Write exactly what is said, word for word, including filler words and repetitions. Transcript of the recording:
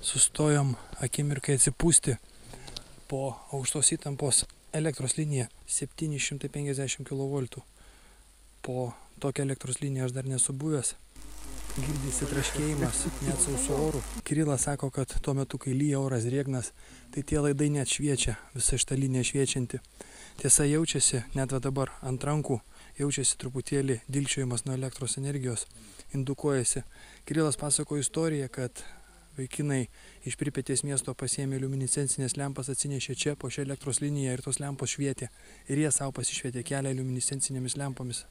Sustojom akimirkai atsipūsti po aukštos įtampos elektros linija septyni šimtai penkiasdešimt kilovoltų. Po tokią elektros liniją aš dar nesu buvęs. Girdisi traškėjimas net sausu oru. Kirilas sako, kad tuo metu, kai lyja oras drėgnas, tai tie laidai net šviečia, visa šita linija šviečianti. Tiesa, jaučiasi, net va dabar ant rankų, jaučiasi truputėlį dilgčiojimas nuo elektros energijos, indukuojasi. Kirilas pasako istoriją, kad vaikinai iš Pripetės miesto pasiėmė liuminescencinės lempas, atsinešė čia po šią elektros liniją ir tos lempos švietė. Ir jie savo pasišvietė kelią liuminescencinėmis lempomis.